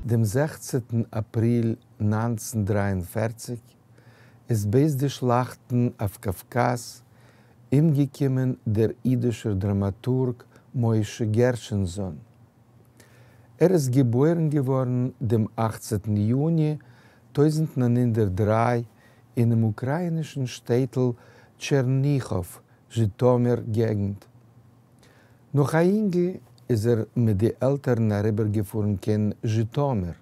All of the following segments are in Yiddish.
דעם זעכצנטן אַפּריל 1943, איז בעת די שלאַכטן אויף קאַווקאַז אומגעקומען דער ייִדישער דראַמאַטורג משה גערשענזאָן. ער איז געבוירן געוואָרן דעם אַכצנטן יוני 1903 אינעם אוקראַיִנישן שטעטל טשערניכאָוו, זשיטאָמיר געגנט. נאָך אַ ייִנגל איז ער מיט די עלטערן אַריבערגעפֿאָרן קיין זשיטאָמיר.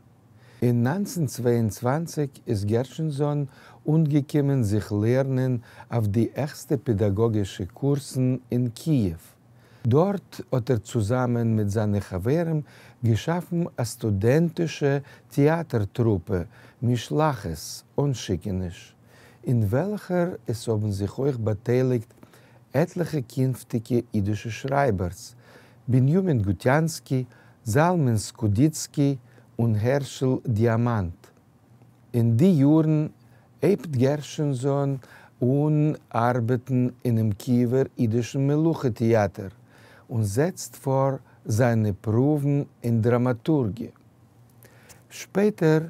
אין 1922 איז גערשענזאָן אָנגעקומען זיך לערנען אויף די העכסטע פּעדאַגאָגישע קורסן אין קיִעוו. דאָרט האָט ער צוזאַמען מיט זײַנע חבֿרים געשאַפֿן אַ סטודענטישע טעאַטער-טרופּע משלחת, אָנשיקעניש, אין וועלכער עס האָבן זיך אויך באַטייליקט עטלעכע קינפֿטיקע ייִדישע שרײַבערס, בנימין גוטיאַנסקי, זלמן סקודיצקי און הערשל דיאַמאַנט. אין די יאָרן הייבט גערשענזאָן אָן אַרבעטן אינעם קיִעווער ייִדישן מלוכה-טעאַטער און זעצט פֿאָר זײַנע פּרוּוון אין דראַמאַטורגיע. שפּעטער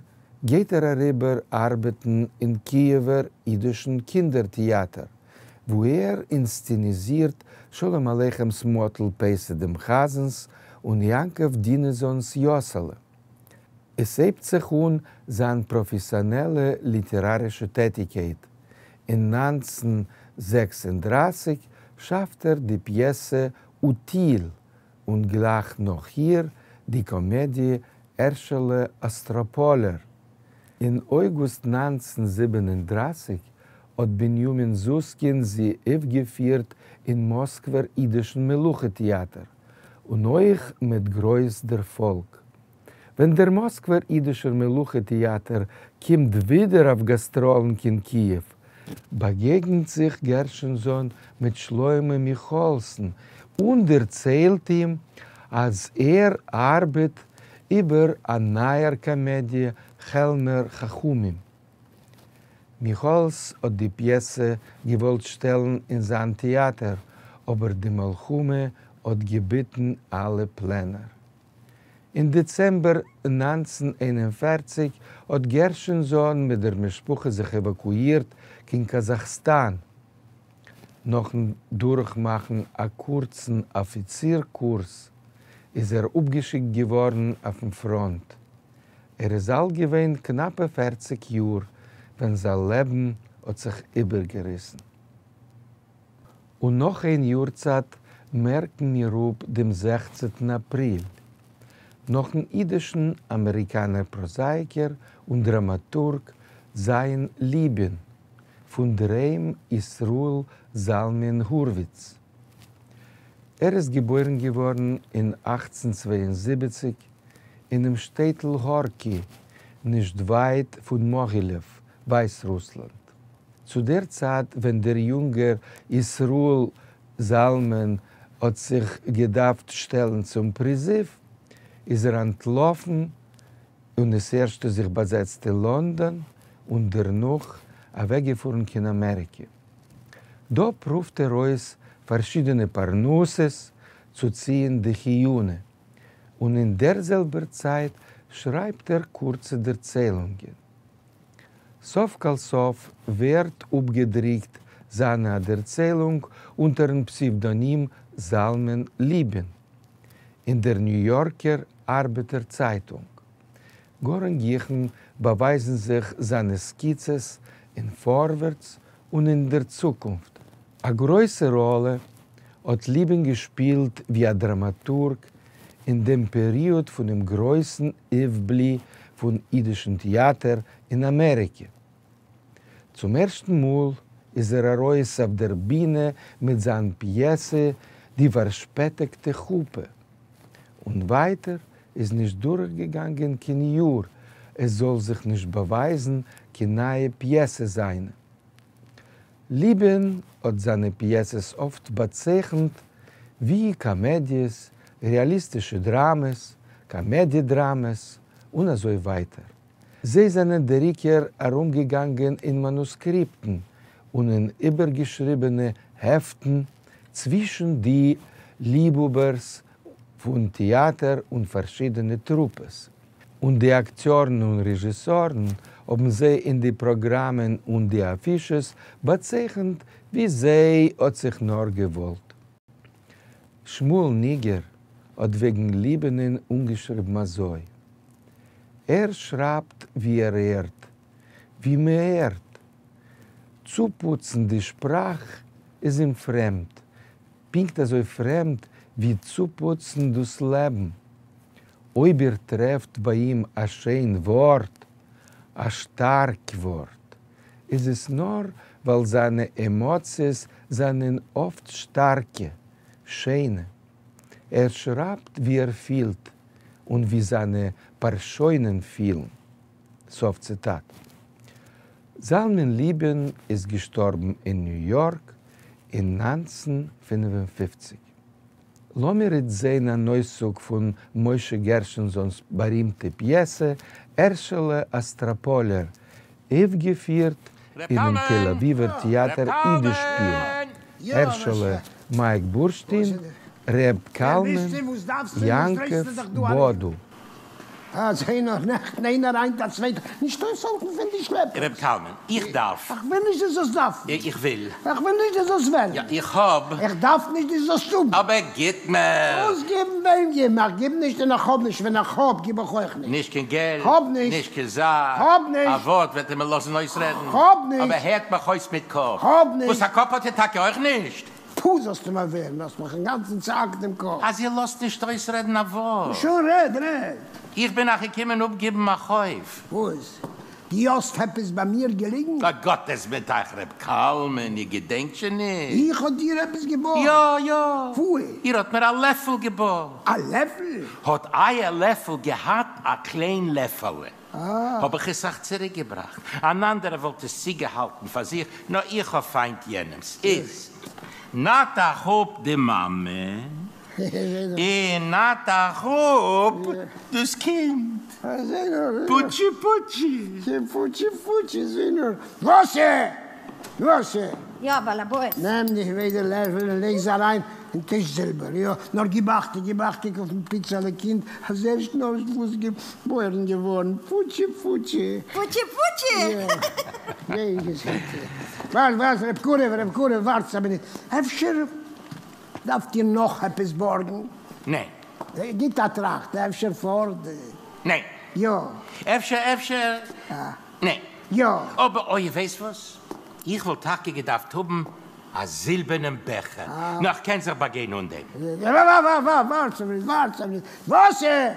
גייט ער אַריבער אַרבעטן אין קיִעווער ייִדישן קינדער-טעאַטער, וווּ ער אינסצעניזירט שלום-עליכמס מאָטל פּייסע דעם חזנס און יעקבֿ דינעזאָנס יאָסעלע. עס הייבט זיך אָן זײַן פּראָפֿעסיאָנעלע ליטעראַרישע טעטיקייט. אין 1936 שאַפֿט ער די פּיעסע אוטיל און גלײַך נאָך איר די קאָמעדיע הערשעלע אָסטראָפּאָלער. אין אויגוסט 1937 האָט בנימין זוסקין זי אויפֿגעפֿירט אין מאָסקווער ייִדישן מלוכה-טעאַטער, און אויך מיט גרויס דערפֿאָלג. ווען דער מאָסקווער ייִדישער מלוכה-טעאַטער קומט ווידער אויף גאַסטראָלן קיין קיִעוו, באַגעגנט זיך גערשענזאָן מיט שלמה מיכאָעלסן און דערציילט אים, אַז ער אַרבעט איבער אַ נײַער קאָמעדיע כעלמער חכמים. מיכאָעלס האָט די פּיעסע געוואָלט שטעלן אין זײַן טעאַטער, אָבער די מלחמה האָט געביטן אַלע פּלענער. אין דעצעמבער 1941 האָט גערשענזאָן מיט דער משפּחה זיך עוואַקואירט קיין קאַזאַכסטאַן. נאָכן דורכמאַכן אַ קורצן אָפֿיציר-קורס איז ער אָפּגעשיקט געוואָרן אויפֿן פֿראָנט. ער איז אַלט געווען קנאַפּע פֿערציק יאָר ווען זײַן לעבן האָט זיך איבערגעריסן. און נאך איין יארצייט מערקן מיר אפ דעם זעכצנטן אפריל, נאכן אידישן אמעריקאנער פראזאייקער און דראמאטורג ז' ליבין, פון דער היים ישראל זלמן הורוויץ. ער איז געבוירן געווארן אין 1872 אינעם שטעטל הארקי, נישט ווייט פון מאהילעוו, ווייסרוסלאנד. צו דער צייט ווען דער יונגער ישראל זלמן האט זיך געדארפט שטעלן צום פריזיוו, איז ער אנטלאפן און ס'ערשטע זיך באזעצט אין לאנדאן און דערנאך אוועקגעפארן קיין אמעריקע. דא פרואווט ער אויס פארשידענע פרנסות צו ציען די חיונה, און אין דער זעלבער צייט שרייבט ער קורצע דערציילונגען. סוף כל סוף ווערט אפגעדריקט זיינע א דערציילונג אונטערן פסעוודאנים זלמן ליבין אין דער ניו יארקער ארבעטער צייטונג. גאר אין גיכן באווייזן זיך זיינע סקיצעס אין פארווערטס און אין דער צוקונפט. א גרויסע ראלע האט ליבין געשפילט ווי א דראמאטורג אין דעם פעריאד פונעם גרויסן אויפבלי פון אידישן טעאטער אין אמעריקע. צום ערשטן מאל איז ער ארויס אויף דער בינע מיט זיין פיעסע די פארשפעטיגטע חופה, און ווייטער איז נישט דורכגעגאנגען קיין יאר עס זאל זיך נישט באווייזן קיין נייע פיעסע זיינע. ליבין האט זיינע פיעסעס אפט באצייכנט ווי קאמעדיעס, רעאליסטישע דראמעס, קאמעדיע-דראמעס, און אזוי ווייטער. זיי זענען דער עיקר ארומגעגאנגען אין מאנוסקריפטן און אין איבערגעשריבענע העפטן צווישן די ליבהאבערס פון טעאטער און פארשידענע טרופעס. און די אקטיארן און רעזשיסארן האבן זיי אין די פראגראמען און די אפישעס באצייכנט ווי זיי האט זיך נאר געוואלט. שמואל ניגער האט וועגן ליבינען אנגעשריבן אזוי, ער שרייבט ווי ער הערט, ווי מען הערט. צופוצן די שפראך איז אים פרעמד, פונקט אזוי פרעמד ווי צופוצן דאס לעבן. אויב איר טרעפט ביי אים א שיין ווארט, א שטארק ווארט, איז עס נאר ווייל זיינע עמאציעס זענען אפט שטארקע, שיינע. ער שרייבט ווי ער פילט און ווי זיינע פארשוינען פילן. סוף ציטאט. זלמן ליבין איז געשטארבן אין ניו יארק אין 1955. לאמיר איצט זען אן אויסצוג פון משה גערשענזאנ'ס בארימטע פיעסע הערשעלע אסטראפאלער, אויפגעפירט ר' אינעם תל קלמן! אביב'ער ר' טעאטער אידישפיל, קלמן! הערשעלע מייק בורשטין, ר' קלמן, יעקב בודו. אַזױ נאָר נעכטן אײנער, הײַנט אַ צװײטער. נישט אױסהאַלטן פֿון די רב שלעפּערס. קלמן, איך דאַרף. איך װיל נישט דו זאָלסט דאַרפֿן. איך װיל. איך װיל נישט דו זאָלסט װעלן. יאָ, איך האָב. איך דאַרף נישט דו זאָלסט האָבן. אָבער גיט מיר. װאָס גיבן? װעם גיבן? איך גיב נישט און איך האָב נישט. װען איך האָב, גיב איך אױך נישט. נישט קײן געלט. האָב נישט. נישט קײן זאַך. האָב נישט. אַ װאָרט װעט איר מיר לאָזן אױסרעדן? האָב נישט. אָבער הערט מיך אױס מיט קאָפּ. האָב נישט. װאָס, אַ קאָפּ האָט איר טאַקע אױך נישט? פו זאלסטו מיר ווערן, האסט מיך אינגאנצן צעהאקט דעם קאפ. אז איר לאזט נישט אויסרעדן א ווארט. שוין רעד, רעד. איך בין אייך געקומען אפגעבן א חוב. וואס? דו האסט עפעס ביי מיר געליגן? א גאט איז מיט אייך ר' קלמן, איר געדענקט שוין נישט? איך האב דיר עפעס געבארגט? יא, יא. וואו? איר האט מיר א לעפל געבארגט. א לעפל? האט אייער לעפל געהאט א קליין לעפעלע. האב איך עס אייך צוריקגעבראכט. אן אנדערער וואלט עס צוגעהאלטן פאר זיך, נאר איך האב פיינט יענעמס. איז נאט אייך אפ די מאמע, און נאט אייך אפ דאס קינד. פוטשי פוטשי. פוטשי פוטשי זע נאר. וואסער! וואסער! יא, באלעבאס. נעם די ביידע לעפל און לייג זיי אריין אין טיש-זילבער, יא, נאר גיב אכטונג, גיב אכטונג אויפן פיצעלע קינד, אז ערשט נארוואס געבוירן געווארן, פוטשי פוטשי. פוטשי פוטשי! יא, גיי געזונט. ווארט, ווארט, רב קרוב, רב קרוב, ווארטס א מינוט, אפשר דארפט איר נאך עפעס בארגן? ניין. גיט א טראכט, אפשר פארט? ניין. יא. אפשר, אפשר, ניין. יא. אבער אוי, ווייסט וואס? איך וואלט טאקע געדארפט האבן א זילבערנעם בעכער, נאר כ'קען זיך באגיין אן דעם. ווארט א מינוט, ווארט א מינוט, וואסער!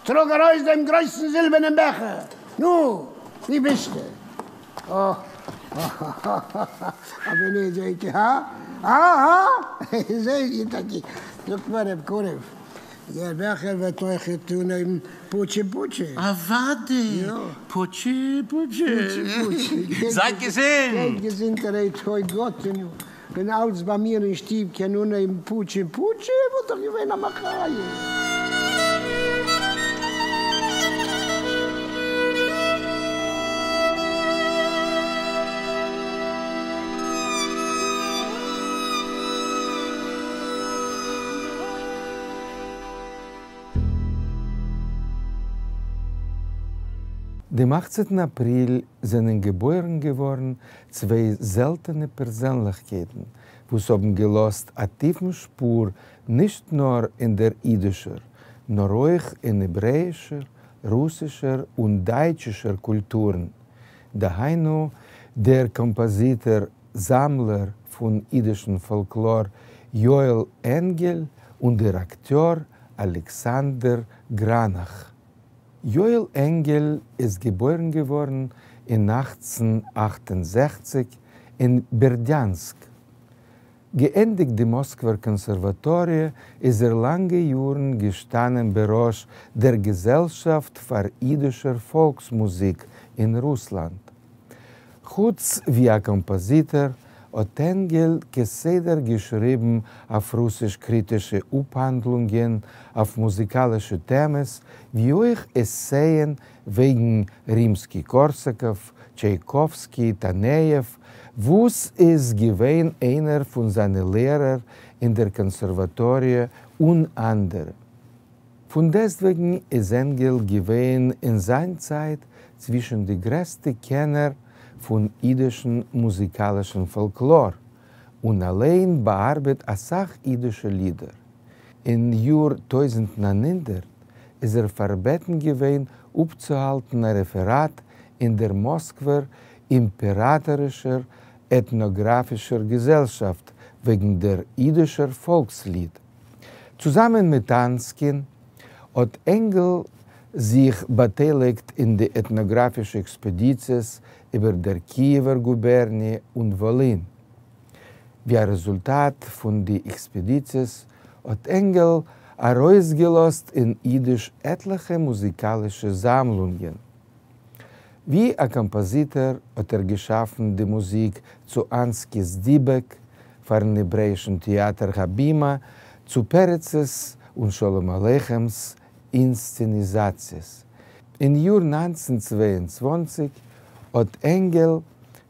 טראג ארויס דעם גרויסן זילבערנעם בעכער! נו, וואו ביסטו? אה, א מינוט, זעהט איר, הא? הא? הא? זעהט איר טאקע? זאגט מיר רב קרוב, דער בעכער וועט אויכעט אנהויבן פוטשי פוטשי. אוודאי! פוטשי פוטשי. פוטשי פוטשי. זייט געזונט! גייט געזונטערהייט, אוי גאטעניו, ווען אלץ ביי מיר אין שטוב קען אנהייבן פוטשי פוטשי וואלט דאך געווען א מחיה. דעם אכצנטן אפריל זענען געבוירן געווארן צוויי זעלטענע פערזענליכקייטן וואס האבן געלאזט א טיפן שפור נישט נאר אין דער אידישער, נאר אויך אין העברעאישער, רוסישער און דייטשישער קולטורן, דהיינו דער קאמפאזיטאר זאמלער פון אידישן פאלקלאר יואל ענגעל און דער אקטיאר אלעקסאנדער גראנאך. יואל ענגעל איז געבוירן געווארן אין 1868 אין בערדיאנסק. געענדיגט די מאסקווער קאנסערוואטאריע איז ער לאנגע יארן געשטאנען בראש דער געזעלשאפט פאר אידישער פאלקס-מוזיק אין רוסלאנד. חוץ ווי א קאמפאזיטאר האט ענגעל כסדר געשריבן אויף רוסיש קריטישע אפהאנדלונגען אויף מוזיקאלישע טעמעס, ווי אויך עסייען וועגן רימסקי-קארסאקאוו, טשייקאווסקי, טאנעיעוו, וואס איז געווען איינער פון זיינע לערער אין דער קאנסערוואטאריע און אנדערע. פֿון דעסטוועגן איז ענגעל געווען אין זײַן צײַט צווישן די גרעסטע קענער פֿון ייִדישן מוזיקאַלישן פֿאָלקלאָר און אַליין באַאַרבעט אַ סך ייִדישע לידער. אין יאָר 1900 איז ער פֿאַרבעטן געווען אָפּצוהאַלטן אַ רעפֿעראַט אין דער מאָסקווער אימפּעראַטאָרישער עטנאָגראַפֿישער געזעלשאַפֿט וועגן דער ייִדישער פֿאָלקסליד. צוזאַמען מיט אַנסקין האָט ענגעל זיך באַטייליקט אין די עטנאָגראַפֿישע עקספּעדיציעס איבער דער קיִעווער גובערניע און וואָלין. ווי אַ רעזולטאַט פֿון די עקספּעדיציעס האָט ענגעל אַרויסגעלאָזט אין ייִדיש עטלעכע מוזיקאַלישע זאַמלונגען. ווי אַ קאָמפּאָזיטאָר האָט ער געשאַפֿן די מוזיק צו אַנסקיס דיבעק פֿאַרן העברעיִשן טעאַטער הבימה, צו פּרצעס און שלום-עליכמס אינסצעניזאַציעס. אין יאָר 1922 האָט ענגעל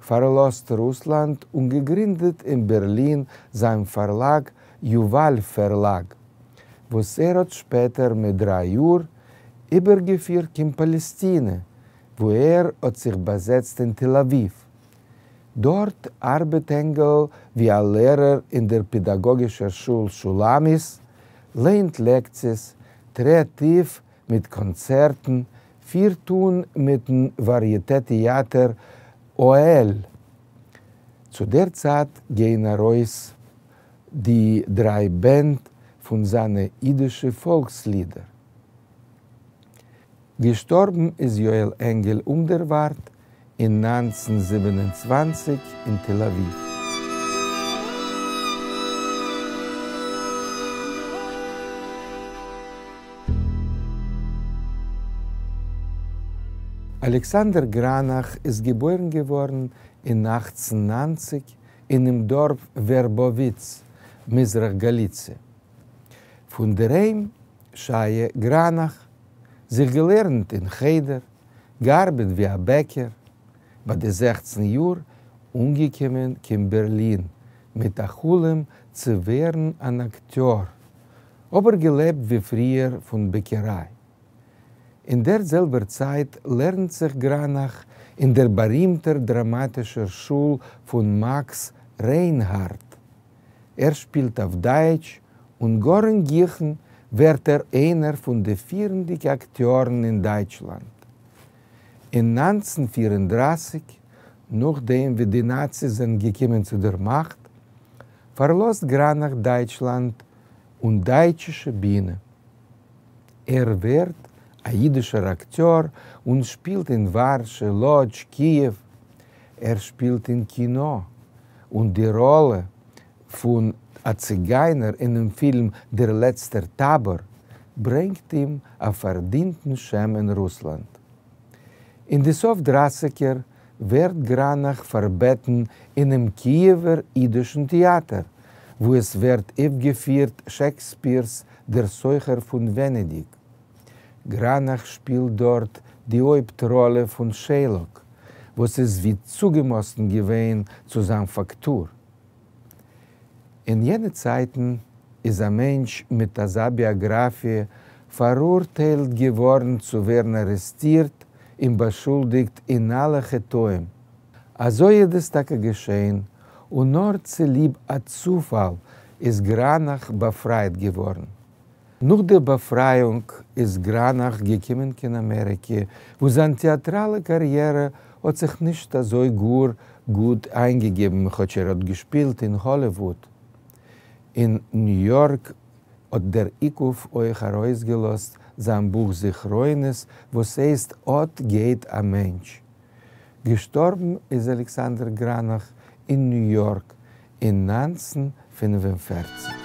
פֿאַרלאָזט רוסלאַנד און געגרינדעט אין בערלין זײַן פֿאַרלאַג יובל פֿערלאַג, וואָס ער האָט שפּעטער מיט דרײַ יאָר איבערגעפֿירט קיין פּאַלעסטינע, וווּ ער האָט זיך באַזעצט אין תּל-אָבֿיבֿ. דאָרט אַרבעט ענגעל ווי אַ לערער אין דער פּעדאַגאָגישער שול שולמית, לייענט לעקציעס, טרעט אויף מיט קאָנצערטן, פֿירט אָן מיטן וואַריעטע-טעאַטער אוהל. צו דער צײַט גייען אַרויס די דרײַ בענד פֿון זײַנע ייִדישע פֿאָלקסלידער. געשטאָרבן איז יואל ענגעל אומדערוואַרט אין 1927 אין תּל-אָבֿיבֿ. אלכסנדר גראנאך איז געבוירן געווארן אין 1890 אינעם דארף ווערבאוויץ, מזרח גאליציע. פון דער היים שייע גראנאך, זיך געלערנט אין חדר, געארבעט ווי א בעקער, ביי די 16 יאר אנגעקומען קיין בערלין מיט א חלום צו ווערן אן אקטיאר, אבער געלעבט ווי פריער פון בעקעריי. אין דער זעלבער צייט לערנט זיך גראנאך אין דער בארימטער דראמאטישער שול פון מאקס ריינהארדט. ער שפילט אויף דייטש און גאר אין גיכן ווערט ער איינער פון די פירנדיקע אקטיארן אין דייטשלאנד. אין 1934, נאכדעם ווי די נאציס זענען געקומען צו דער מאכט, פארלאזט גראנאך דייטשלאנד און דייטשישע בינע. ער ווערט א יידישער אקטיאר און שפילט אין ווארשע, לאדזש, קיעוו. ער שפילט אין קינא, און די ראלע פון א ציגיינער אינעם פילם דער לעצטער טאבאר ברענגט אים א פארדינטן שם אין רוסלאנד. אין די סוף דרייסיגער ווערט גראנאך פארבעטן אינעם קיעווער יידישן טעאטער, וואו עס ווערט אויפגעפירט שעקספיר'ס דער סוחר פון ווענעדיג. גראנאך שפילט דארט די הויפט ראלע פון שיילאק, וואס איז ווי צוגעמאסטן געווען צו זיין פאקטור. אין יענע צייטן איז א מענטש מיט אזא ביאגראפיע פאראורטיילט געווארן צו ווערן ארעסטירט און באשולדיגט אין אלע חטאים. אזוי איז עס טאקע געשען, און נאר צוליב א צופאל איז גראנאך באפרייט געווארן. נאך דער באפרייאונג איז גראנאך געקומען קיין אמעריקע, וואו זיין טעאטראלע קאריערע האט זיך נישט אזוי גאר גוט איינגעגעבן, כאטש ער האט געשפילט אין האליוואוד. אין ניו יארק האט דער איקוף אויך ארויסגעלאזט זיין בוך זכרונות וואס הייסט אט גייט א מענטש. געשטארבן איז אלכסנדר גראנאך אין ניו יארק אין 1945.